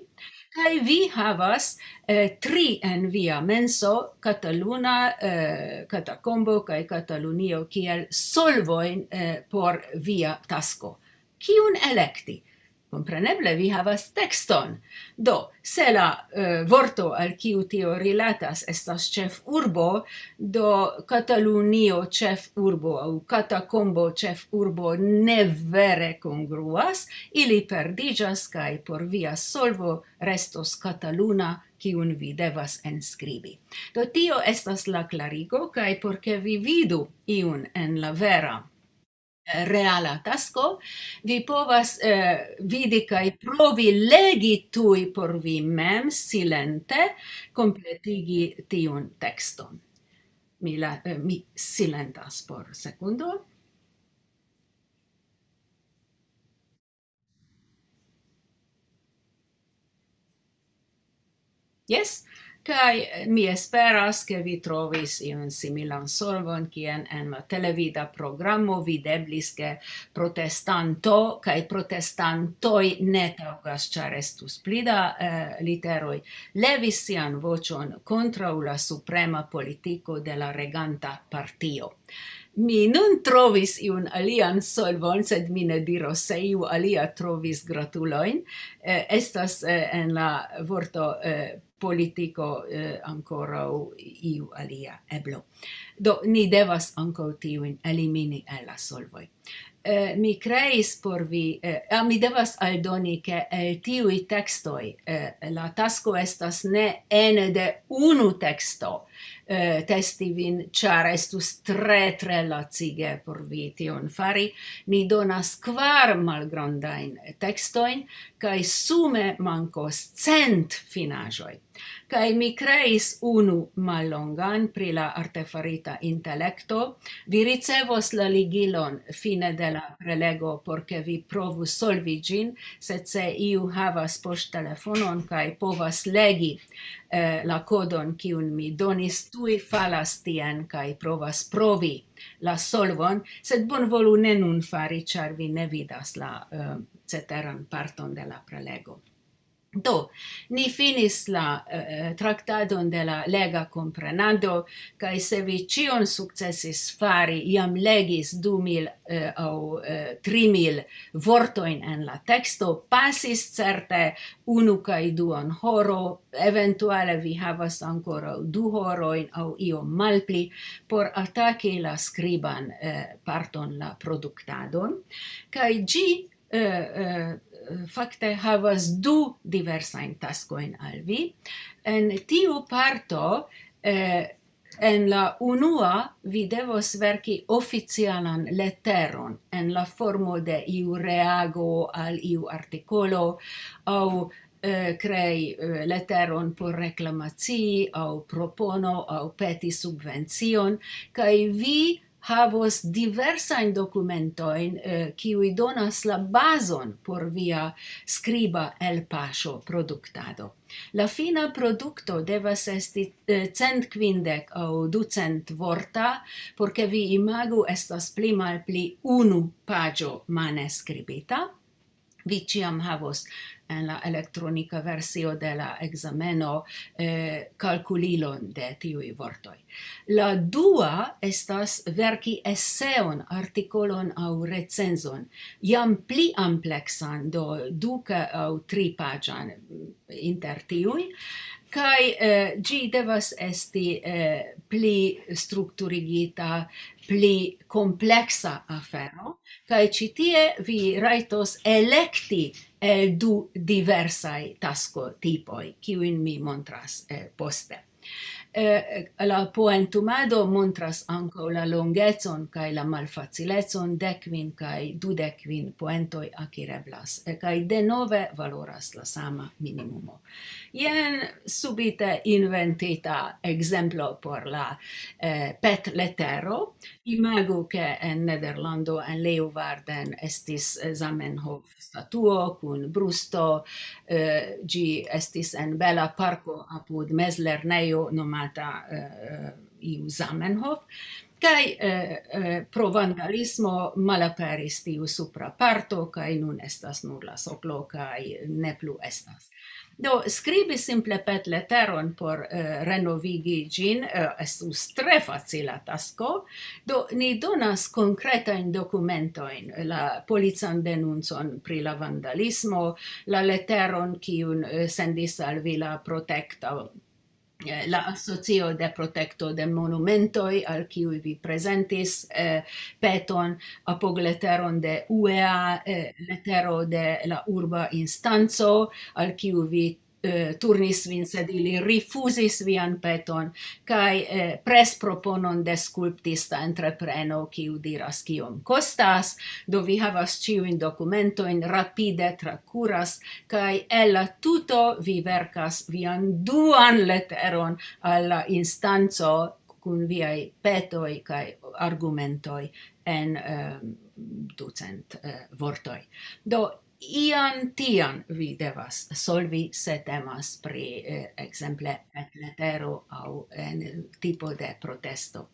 kaj vi havas, eh, tri en via menso, Kataluna, eh, Katakombo kaj Katalunio kiel solvojn, eh, por via tasko. Kiun elekti? Kompreneble, vi havas tekston. Do, se la, eh, vorto al kiu tio rilatas estas ĉefurbo, do Katalunio ĉefurbo aŭ Katakombo ĉefurbo ne vere kongruas, ili perdiĝas, kaj por via solvo restos Kataluna, kiun vi devas enskribi. Do, tio estas la klarigo, kaj por ke vi vidu iun en la vera, eh, reala tasko, vi povas, eh, vidi kaj provi legi tuj por vi mem, silente, kompletigi tiun tekston. Mi la, eh, mi silentas por sekundo. Jes, kaj, eh, mi esperas, ke vi trovis iun similan solvon, kien en la televida programo videblis, ke protestanto kaj protestantoj ne taŭgas, ĉar estus pli da, eh, literoj, levis sian voĉon kontraŭ la suprema politiko de la reganta partio. Mi nun trovis iun alian solvon, sed mi ne diros, se iu alia trovis, gratulojn. Eh, estas, eh, en la vorto, eh, politiko, eh, ankoraŭ iu alia eblo. Do, ni devas ankaŭ tiujn elimini el la solvoj. Eh, mi kreis por vi, eh, ah, mi devas aldoni, ke el tiuj tekstoj, eh, la tasko estas ne ene de unu teksto, eh, testi vin, ĉar estus tre, tre lacige por vi tion fari. Ni donas kvar malgrandajn tekstojn, kaj sume mankos cent finaĵoj. Kaj mi kreis unu mallongan pri la artefarita intelekto. Vi ricevos la ligilon fine de la prelego, por ke vi provu solvi ĝin, sed se iu havas poŝtelefonon kaj povas legi, eh, la kodon, kiun mi donis, tuj falas tien kaj provas provi la solvon, sed bonvolu ne nun fari, ĉar vi ne vidas la, eh, ceteran parton de la prelego. Do, ni finis la, eh, traktadon de la lega komprenado, kaj se vi ĉion sukcesis fari, jam legis du mil, eh, aŭ, eh, tri mil vortojn en la teksto, pasis certe unu kaj duon horo, eventuale vi havas ankoraŭ du horojn aŭ iom malpli por ataki la skriban, eh, parton, la produktadon, kaj ĝi, eh, eh, fakte havas du diversajn taskojn al vi. En tiu parto, eh, en la unua vi devos verki oficialan leteron en la formo de iu reago al iu artikolo aŭ, eh, krei, eh, leteron por reklamacii aŭ propono aŭ peti subvencion, kaj vi havos diversajn dokumentojn, eh, kiuj donas la bazon por via skriba elpaŝo produktado. La fina produkto devas esti, eh, cent kvindek aŭ ducent vorta, por ke vi imagu, estas pli malpli unu paĝo mane skribita. Vi ĉiam havos en la elektronika versio de la ekzameno, eh, kalkulilon de tiuj vortoj. La dua estas verki eseon, artikolon aŭ recenzon, jam pli ampleksan, do du ka-, aŭ tri paĝan inter tiuj, kaj, eh, ĝi devas esti, eh, pli strukturigita, pli kompleksa afero, kaj ĉi tie vi rajtos elekti el du diversaj taskotipoj, kiujn mi montras, eh, poste. Eh, la poentumado montras ankaŭ la longecon kaj la malfacilecon, dek kvin kaj dudek kvin poentoj akireblas, eh, kaj denove valoras la sama minimumo. Jen subite inventita ekzemplo por la, eh, petletero. Imagu, ke en Nederlando, en Leeuwarden, estis, eh, Zamenhof statuo kun brusto, eh, ĝi estis en bela parko apud mezlernejo nomata, eh, iu Zamenhof. Kaj, eh, eh, pro vandalismo malaperis tiu supra parto, kaj nun estas nur la soklo, kaj ne plu estas. Do, skribi simple petleteron por, eh, renovigi ĝin, eh, estus tre facila tasko. Do, ni donas konkretajn dokumentojn, la polican denuncon pri la vandalismo, la leteron, kiun, eh, sendis al vi la protekto, eh, la asocio de protekto de monumentoj, al kiuj vi prezentis, eh, peton, apogleteron de U E A, eh, letero de la urba instanco, al kiu vi, eh, turnis vin, sed ili rifuzis vian peton, kaj, eh, presproponon de skulptista entrepreno, kiu diras, kiom kostas. Do, vi havas ĉiujn dokumentojn, rapide trakuras, kaj el la tuto vi verkas vian duan leteron al la instanco kun viaj petoj kaj argumentoj en, eh, ducent, eh, vortoj. Do, ian tian vi devas solvi, se temas pri, eh, ekzemple, petletero aŭ en tipo de protesto.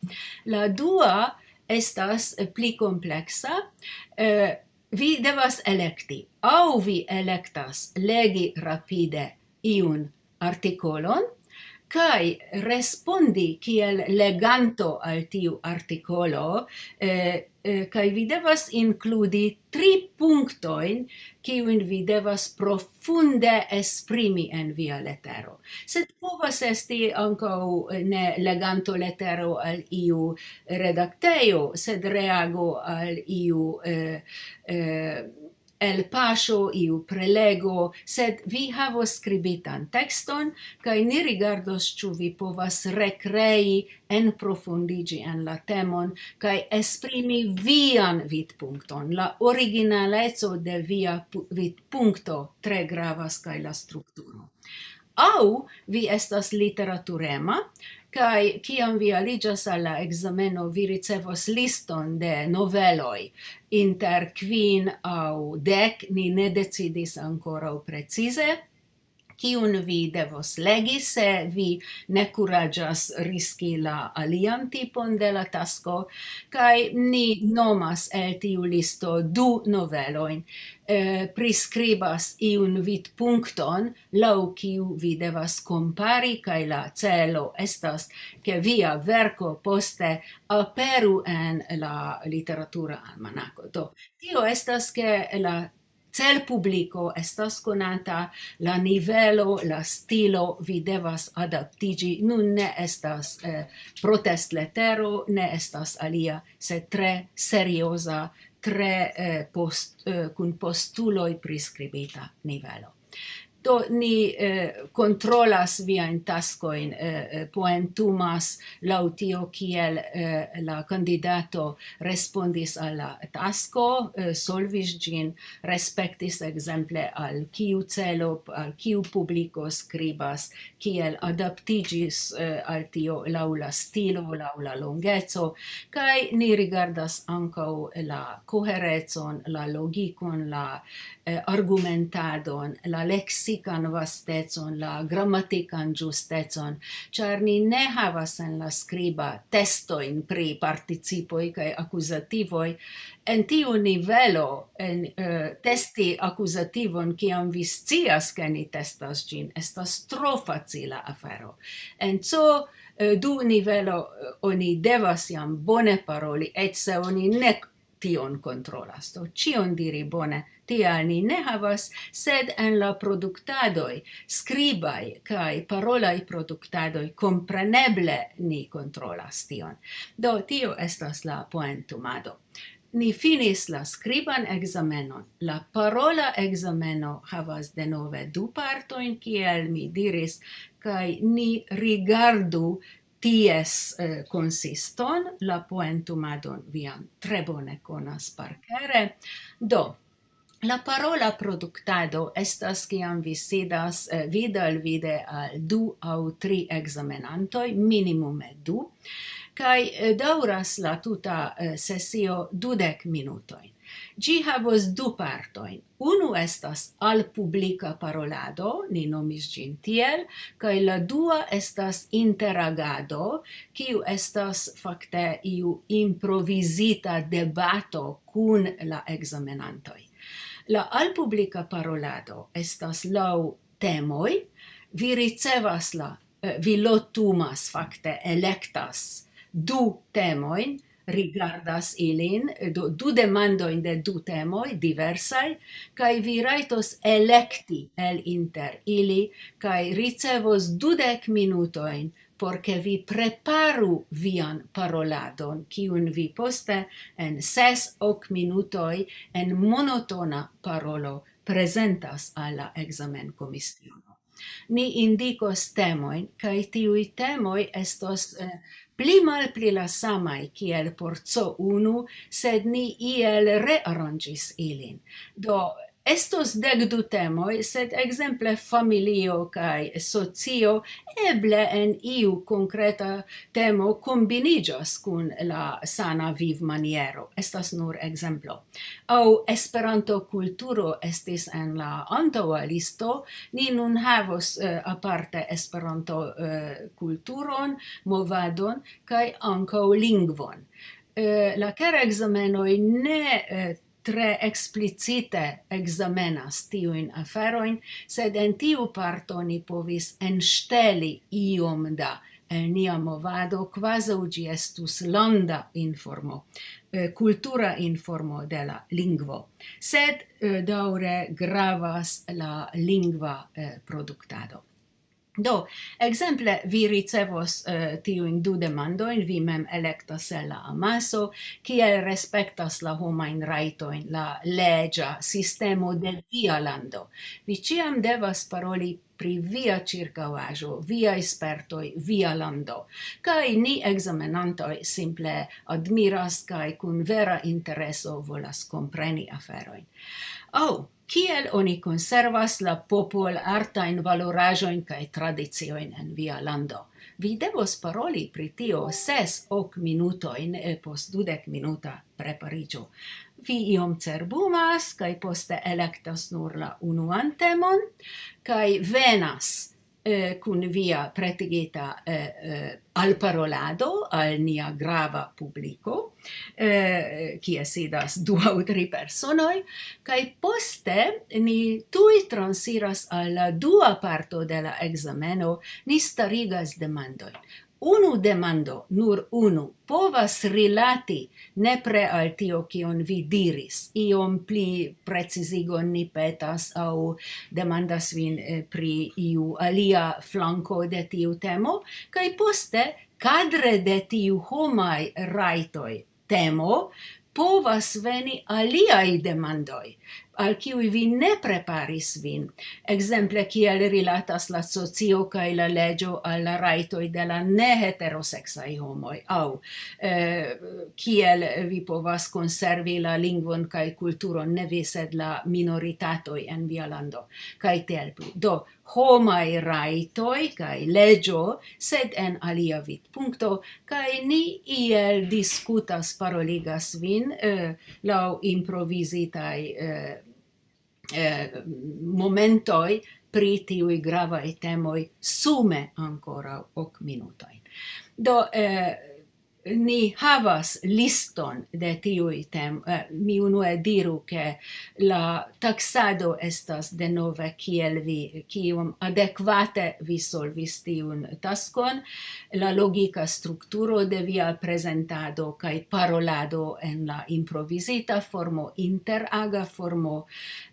La dua estas pli kompleksa. Eh, vi devas elekti, aŭ vi elektas legi rapide iun artikolon, kaj respondi kiel leganto al tiu artikolo, eh, eh, kaj vi devas inkludi tri punktojn, kiujn vi devas profunde esprimi en via letero. Sed povas esti ankaŭ, eh, ne leganto letero al iu redaktejo, sed reago al iu, eh, eh, elpaŝo, iu prelego, sed vi havos skribitan tekston, kaj ni rigardos, ĉu vi povas rekrei, enprofundiĝi en la temon, kaj esprimi vian vidpunkton. La originaleco de via pu-, vidpunkto tre gravas, kaj la strukturo. Aŭ vi estas literaturema, kaj kiam vi aliĝas al la ekzameno, vi ricevos liston de noveloj, inter kvin aŭ dek, ni ne decidis ankoraŭ precize, kiun vi devos legi, se vi ne kuraĝas riski la alian tipon de la tasko, kaj ni nomas el tiu listo du novelojn, eh, priskribas iun vidpunkton, laŭ kiu vi devas kompari, kaj la celo estas, ke via verko poste aperu en la literatura almanako. Do, tio estas, ke la celpubliko estas konata, la nivelo, la stilo, vi devas adaptiĝi. Nun ne estas, eh, protestletero, ne estas alia, sed tre serioza, tre, eh, post-, eh, kun postuloj priskribita nivelo. Do ni eh, kontrolas viajn taskojn, eh, eh, poentumas laŭ tio, kiel eh, la kandidato respondis al la tasko, eh, solvis ĝin, respektis ekzemple al kiu celo, al kiu publiko skribas, kiel adaptiĝis eh, al tio laŭ la stilo, laŭ la longeco, kaj ni rigardas ankaŭ la koherecon, la logikon, la eh, argumentadon, la leksikan vastecon, la gramatikan ĝustecon, ĉar ni ne havas en la skriba testojn pri participoj kaj akuzativoj. En tiu nivelo, en, eh, testi akuzativon, kiam vi scias, ke ni testas ĝin, estas tro facila afero. En C O eh, du nivelo eh, oni devas jam bone paroli, eĉ se oni ne tion kontrolas. Do ĉion diri bone, tial ni ne havas, sed en la produktadoj, skribaj kaj parolaj produktadoj, kompreneble ni kontrolas tion. Do tio estas la poentumado. Ni finis la skriban ekzamenon. La parola ekzameno havas denove du partojn, kiel mi diris, kaj ni rigardu ties eh, konsiston, la poentumadon vi jam tre bone konas parkere. Do, la parola produktado estas, kiam vi sidas eh, vide al vide al du aŭ tri ekzamenantoj, minimume du, kaj eh, daŭras la tuta eh, sesio dudek minutojn. Ĝi havos du partojn. Unu estas alpublika parolado, ni nomis ĝin tiel, kaj la dua estas interagado, kiu estas fakte iu improvizita debato kun la ekzamenantoj. La alpublika parolado estas laŭ temoj, vi ricevas la, eh, vi lotumas, fakte elektas du temojn, rigardas ilin, do, du demandojn de du temoj diversaj, kaj vi rajtos elekti el inter ili, kaj ricevos dudek minutojn, por ke vi preparu vian paroladon, kiun vi poste en ses, ok minutoj en monotona parolo prezentas al la ekzamenkomisiono. Ni indikos temojn, kaj tiuj temoj estos eh, pli malpli la samaj kiel por C O unu, sed ni iel rearanĝis ilin. Do, estos dek du temoj, sed ekzemple familio kaj socio, eble en iu konkreta temo kombiniĝas kun la sana vivmaniero. Estas nur ekzemplo. Aŭ Esperanto-kulturo estis en la antaŭa listo. Ni nun havos eh, aparte Esperanto-kulturon, movadon kaj ankaŭ lingvon. Eh, la kera ekzamenoj ne eh, tre eksplicite ekzamenas tiujn aferojn, sed en tiu parto ni povis enŝteli iom da el nia movado, kvazaŭ ĝi estus landa informo, eh, kultura informo de la lingvo. Sed eh, daŭre gravas la lingva eh, produktado. Do, ekzemple, vi ricevos eh, tiujn du demandojn, vi mem elektas el la amaso, kiel respektas la homajn rajtojn la leĝa sistemo de via lando. Vi ĉiam devas paroli pri via ĉirkaŭaĵo, viaj spertoj, via lando. Kaj ni ekzamenantoj simple admiras kaj kun vera intereso volas kompreni aferojn. Aŭ, kiel oni konservas la popolartajn valoraĵojn kaj tradiciojn en via lando? Vi devos paroli pri tio ses, ok minutojn eh, post dudek minuta prepariĝo. Vi iom cerbumas kaj poste elektas nur la unuan temon, kaj venas eh, kun via pretigita eh, eh, alparolado al nia grava publiko, eh, kie sidas du aŭ tri personoj, kaj poste ni tuj transiras al la dua parto de la ekzameno, ni starigas demandojn. Unu demando, nur unu, povas rilati nepre al tio, kion vi diris. Iom pli precizigon ni petas aŭ demandas vin eh, pri iu alia flanko de tiu temo, kaj poste, kadre de tiu homaj rajtoj temo, povas veni aliaj demandoj. al kiuj vi ne preparis vin, ekzemple kiel rilatas la socio kaj la leĝo al la rajtoj de la neheteroseksaj homoj, aŭ, eh, kiel vi povas konservi la lingvon kaj kulturon, ne vi, sed la minoritatoj en via lando, kaj tiel plu. Do, homaj rajtoj kaj leĝo, sed en alia vidpunkto, kaj ni iel diskutas, paroligas vin, eh, laŭ improvizitaj, eh, eh, momentoj pri tiuj gravaj temoj sume ankoraŭ ok minutojn. Do, eh, ni havas liston de tiuj tem-, eh, mi unue diru, ke la taksado estas denove kiel vi, kiom adekvate vi solvis tiun taskon, la logika strukturo de via prezentado kaj parolado en la improvizita formo, interaga formo,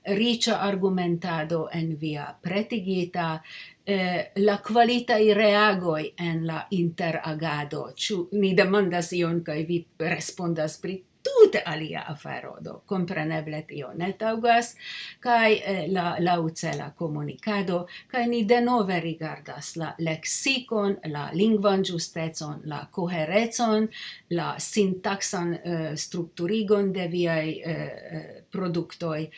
riĉa argumentado en via pretigita, eh, la kvalitaj reagoj en la interagado. Ĉu ni demandas ion kaj vi respondas pri tute alia afero, do kompreneble tio ne taŭgas, kaj, eh, la laŭcela komunikado, kaj ni denove rigardas la leksikon, la lingvan ĝustecon, la koherecon, la sintaksan, eh, strukturigon de viaj, eh, eh, produktoj,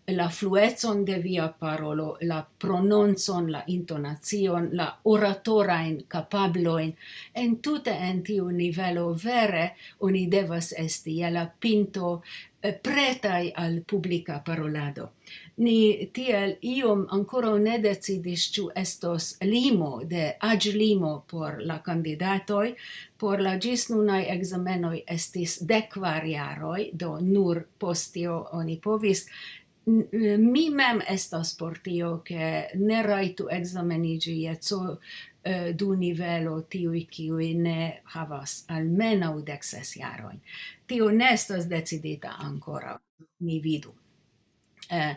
la fluecon de via parolo, la prononcon, la intonacion, la oratorajn kapablojn. Entute en tiu nivelo vere oni devas esti je la pinto, eh, pretaj al publika parolado. Ni tiel iom ankoraŭ ne decidis, ĉu estos limo de aĝlimo por la kandidatoj. Por la ĝis nunaj ekzamenoj estis dek kvar jaroj, do nur post tio oni povis. N-, mi mem estas por tio, ke ne rajtu ekzameniĝi je C O, eh, du nivelo tiuj, kiuj ne havas almenaŭ dek ses jarojn. Tio ne estas decidita ankoraŭ, ni vidu. Eh,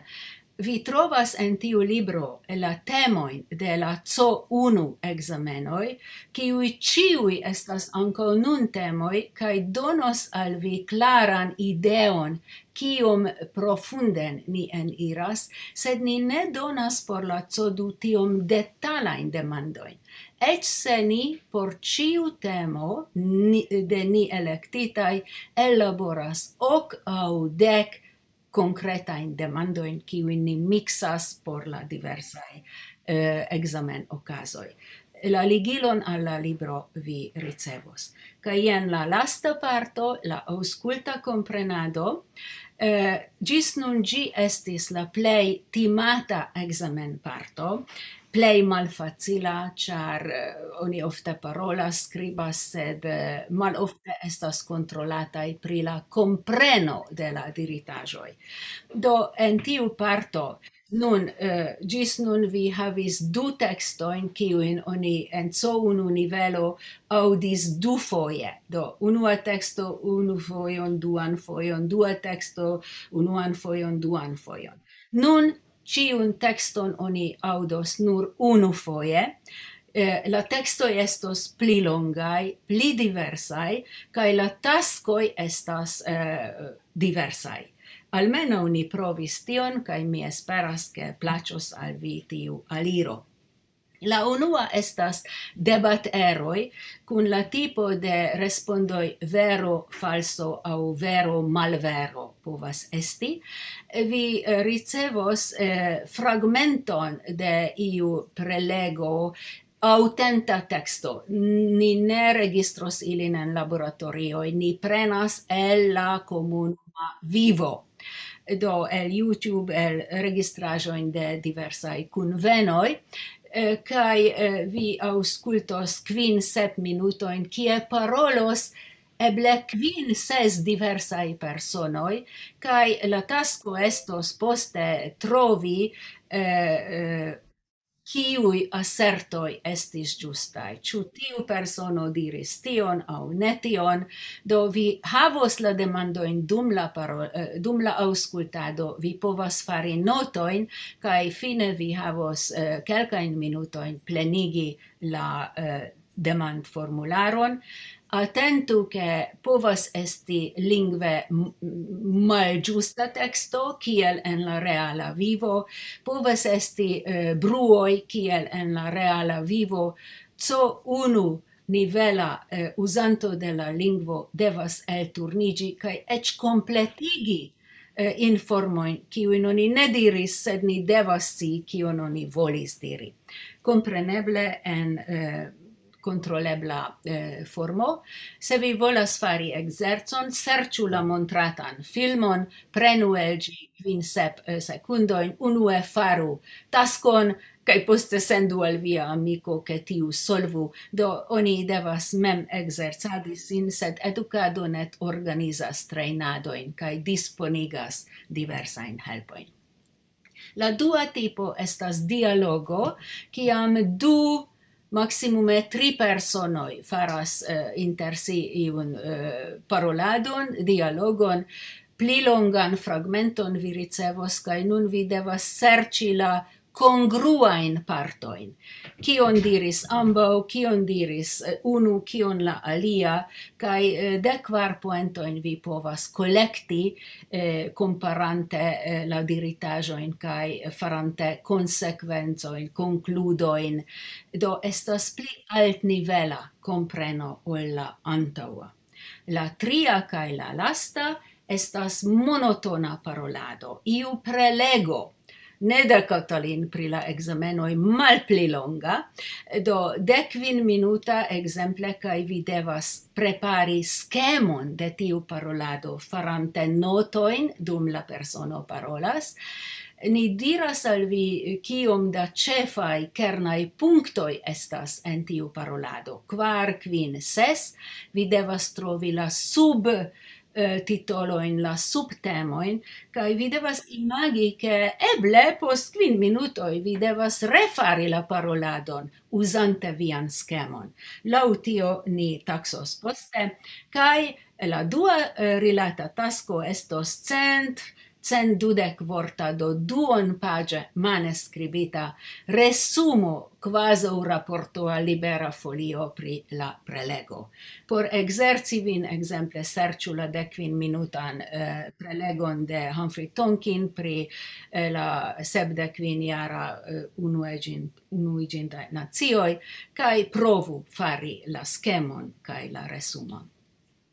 vi trovas en tiu libro la temojn de la C O unu ekzamenoj, kiuj ĉiuj estas ankaŭ nun temoj, kaj donos al vi klaran ideon, kiom profunden ni eniras, sed ni ne donas por la C O du tiom detalajn demandojn. Eĉ se ni por ĉiu temo ni, de ni elektitaj elaboras ok aŭ dek konkretajn demandojn, kiujn ni miksas por la diversaj, eh, ekzamenokazoj. La ligilon al la libro vi ricevos. Kaj jen la lasta parto, la aŭskulta komprenado. Eh, ĝis nun ĝi estis la plej timata ekzamenparto, plej malfacila, ĉar, eh, oni ofte parolas, skribas, sed, eh, malofte estas kontrolataj pri la kompreno de la diritaĵoj. Do, en tiu parto, nun, eh, ĝis nun vi havis du tekstojn, kiujn oni en C O unu nivelo aŭdis dufoje. Do, unua teksto unu fojon, duan fojon, dua teksto unuan fojon, duan fojon. Nun ĉiun tekston oni aŭdos nur unu foje. Eh, la tekstoj estos pli longaj, pli diversaj, kaj la taskoj estas, eh, diversaj. Almenaŭ ni provis tion, kaj mi esperas, ke plaĉos al vi tiu aliro. La unua estas debateroj kun la tipo de respondoj vero, falso aŭ vero, malvero povas esti. Vi, eh, ricevos, eh, fragmenton de iu prelego, aŭtenta teksto. Ni ne registros ilin en laboratorioj, ni prenas el la komunuma vivo. Do, el YouTube, el registraĵojn de diversaj kunvenoj, eh, kaj, eh, vi aŭskultos kvin, sep minutojn, kie parolos eble kvin, ses diversaj personoj, kaj la tasko estos poste trovi, eh, eh, kiuj asertoj estis ĝustaj, ĉu tiu persono diris tion aŭ ne tion. Do, vi havos la demandojn dum la paro-, eh, dum la aŭskultado, vi povas fari notojn, kaj fine vi havos, eh, kelkajn minutojn plenigi la, eh, demandformularon. Atentu, ke povas esti lingve m-, malĝusta teksto, kiel en la reala vivo, povas esti, eh, bruoj, kiel en la reala vivo. Co unu nivela, eh, uzanto de la lingvo devas elturniĝi kaj eĉ kompletigi, eh, informojn, kiujn oni ne diris, sed ni devas scii, kion oni volis diri. Kompreneble en, eh, kontrolebla, eh, formo. Se vi volas fari ekzercon, serĉu la montratan filmon, prenu el ĝi kvin sep, eh, sekundojn, unue faru taskon, kaj poste sendu al via amiko, ke tiu solvu. Do, oni devas mem ekzercadi sin, sed edukado net organizas trejnadojn kaj disponigas diversajn helpojn. La dua tipo estas dialogo, kiam du, maksimume tri personoj faras, eh, inter si iun, eh, paroladon, dialogon. Pli longan fragmenton vi ricevos, kaj nun vi devas serĉi la kongruajn partojn. Kion diris ambaŭ, kion diris, eh, unu, kion la alia, kaj, eh, dek kvar poentojn vi povas kolekti, eh, komparante, eh, la diritaĵojn kaj farante konsekvencojn, konkludojn. Do estas pli altnivela kompreno ol la antaŭa. La tria kaj la lasta estas monotona parolado, iu prelego. Ne de Katalin pri la ekzamenoj malpli longa, do dek kvin minuta ekzemple, kaj vi devas prepari skemon de tiu parolado, farante notojn dum la persono parolas. Ni diras al vi, kiom da ĉefaj kernaj punktoj estas en tiu parolado. Kvar, kvin, ses, vi devas trovi la sub, eh, titolojn, la subtemojn, kaj vi devas imagi, ke eble post kvin minutoj vi devas refari la paroladon uzante vian skemon. Laŭ tio ni taksos poste, kaj la dua, eh, rilata tasko estos cent, cent dudek vorta, do duonpaĝe mane skribita resumo, kvazaŭ raporto al Libera Folio pri la prelego. Por ekzerci vin, ekzemple, serĉu la dek kvin minutan, eh, prelegon de Humphrey Tonkin pri, eh, la sepdek kvin jara, eh, unuiĝin-, unuiĝintaj nacioj, kaj provu fari la skemon kaj la resumon.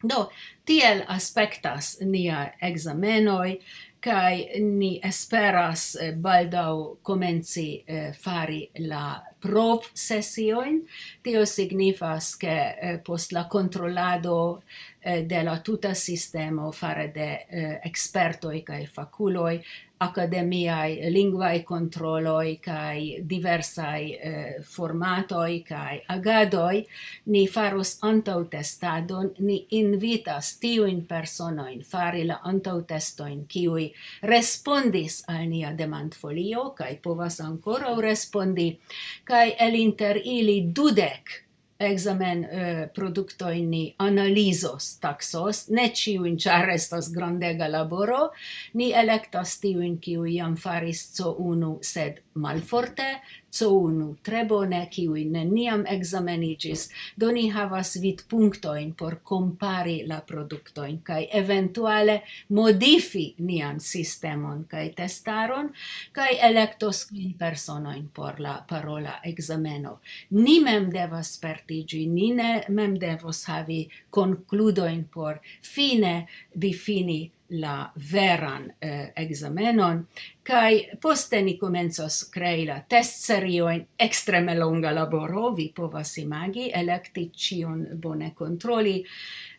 Do, tiel aspektas nia ekzamenoj, kaj ni esperas, eh, baldaŭ komenci, eh, fari la provsesiojn. Tio signifas, ke, eh, post la kontrolado, eh, de la tuta sistemo fare de, eh, ekspertoj kaj fakuloj, akademiaj lingvaj kontroloj kaj diversaj, eh, formatoj kaj agadoj, ni faros antaŭtestadon, ni invitas tiujn personojn fari la antaŭtestojn, kiuj respondis al nia demandfolio kaj povas ankoraŭ respondi, kaj el inter ili dudek ekzamen, eh, produktojn ni analizos, taksos, ne ĉiujn, ĉar estas grandega laboro. Ni elektas tiujn, kiuj jam faris C unu, sed malforte, C unu tre bone, kiuj neniam ekzameniĝis. Do ni havas vidpunktojn por kompari la produktojn kaj eventuale modifi nian sistemon kaj testaron, kaj elektos kvin personojn por la parola ekzameno. Ni mem devas spertiĝi, ni ne mem devos havi konkludojn por fine difini la veran, eh, ekzamenon, kaj poste ni komencos krei la testseriojn, ekstreme longa laboro, vi povas imagi, elekti ĉion, bone kontroli,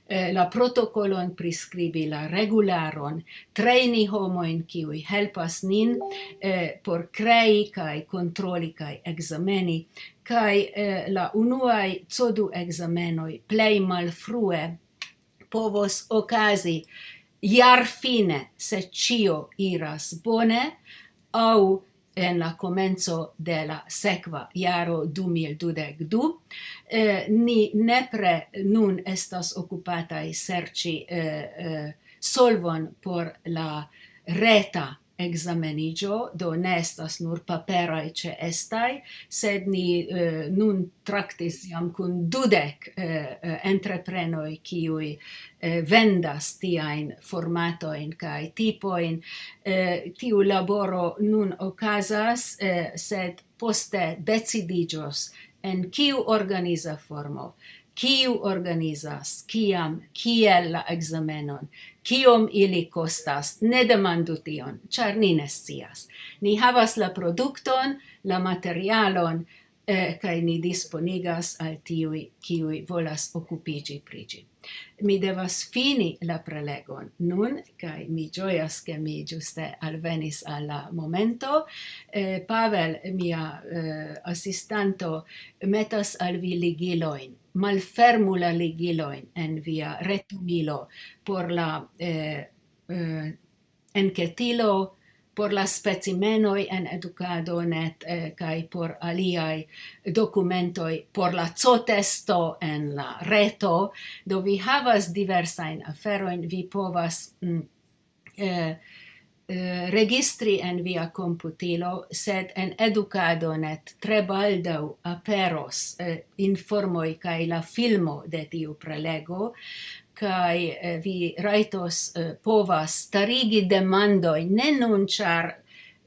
eh, la protokolon, priskribi la regularon, trejni homojn, kiuj helpas nin, eh, por krei kaj kontroli kaj ekzameni, kaj, eh, la unuaj C du ekzamenoj plej malfrue povos okazi jarfine, se ĉio iras bone, aŭ en la komenco de la sekva jaro du mil dudek du. Eh, ni nepre nun estas okupataj serĉi, eh, eh, solvon por la reta ekzameniĝo, do ne estas nur paperaj ĉeestaj, sed ni, eh, nun traktis jam kun dudek, eh, eh, entreprenoj, kiuj, eh, vendas tiajn formatojn kaj tipojn. Eh, tiu laboro nun okazas, eh, sed poste decidiĝos en kiu organiza formo, kiu organizas, kiam, kiel la ekzamenon, kiom ili kostas, ne demandu tion, ĉar ni ne scias. Ni havas la produkton, la materialon, eh, kaj ni disponigas al tiuj, kiuj volas okupiĝi pri ĝi. Mi devas fini la prelegon nun, kaj mi ĝojas, ke mi ĝuste alvenis al la momento. Eh, Pavel, mia, eh, asistanto, metas al vi ligilojn. Malfermu la ligilojn en via retumilo por la, eh, eh, enketilo, por la specimenoj en edukado net, eh, kaj por aliaj dokumentoj, por la C-testo en la reto. Do vi havas diversajn aferojn, vi povas, mm, eh, eh, registri en via komputilo, sed en edukado net tre baldaŭ aperos, eh, informoj kaj la filmo de tiu prelego, kaj, eh, vi rajtos, eh, povas starigi demandoj, ne nun, ĉar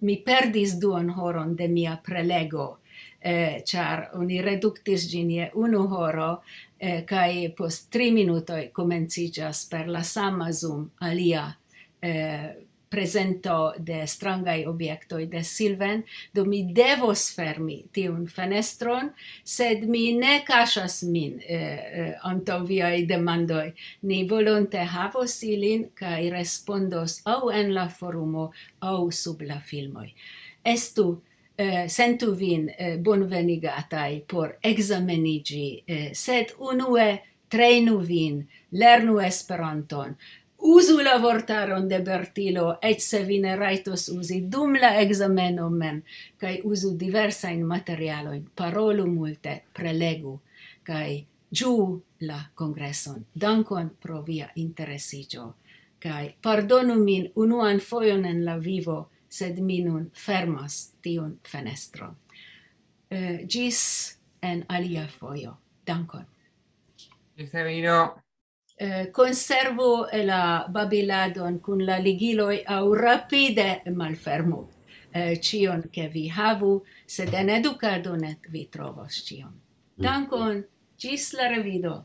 mi perdis duon horon de mia prelego, eh, ĉar oni reduktis ĝin je unu horo, eh, kaj post tri minutoj komenciĝas per la sama Zoom alia, eh, prezento de strangaj objektoj de Silven, do mi devos fermi tiun fenestron, sed mi ne kaŝas min, eh, eh, antaŭ viaj demandoj. Ni volonte havos ilin kaj respondos aŭ en la forumo, aŭ sub la filmoj. Estu, eh, sentu vin, eh, bonvenigataj por ekzameniĝi, eh, sed unue trejnu vin, lernu Esperanton, uzu la vortaron de Bertilo, eĉ se vi ne rajtos uzi dum la ekzameno mem, kaj uzu diversajn materialojn, parolu multe, prelegu, kaj ĝuu la kongreson. Dankon pro via interesiĝo, kaj pardonu min unuan fojon en la vivo, sed mi nun fermas tiun fenestron. Eh, ĝis en alia fojo. Dankon. Ĝis revido. Eh, konservu la babiladon kun la ligiloj aŭ rapide malfermu, eh, ĉion, ke vi havu, sed en edukado net vi trovos ĉion. Dankon, ĝis la revido.